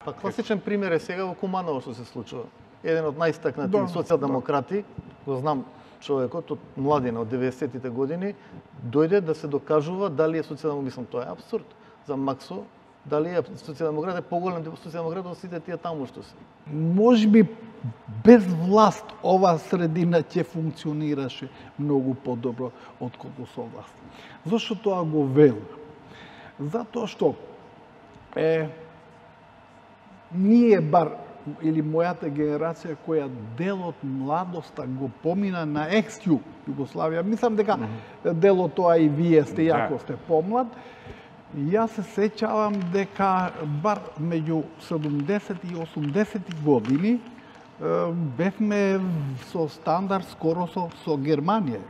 Па класичен пример е сега во Куманово што се случува. Еден од најстакнати социјалдемократи, го знам човекот од младина од 90-тите години, дојде да се докажува дали е социјалдемократ. Мислам, тоа е апсурд. За Максо, дали е социјалдемократ е поголем социјалдемократ од сите тие таму што се. Можеби без власт ова средина ќе функционираше многу подобро отколку со власт. Зошто тоа го велам? Затоа што ние бар или мојата генерација која дел од младоста го помина на екс-југ Југославија, мислам дека дел од тоа и вие сте, јако сте помлад. Јас се сеќавам дека бар меѓу 70 и 80 години бевме со стандард скоро со Германија.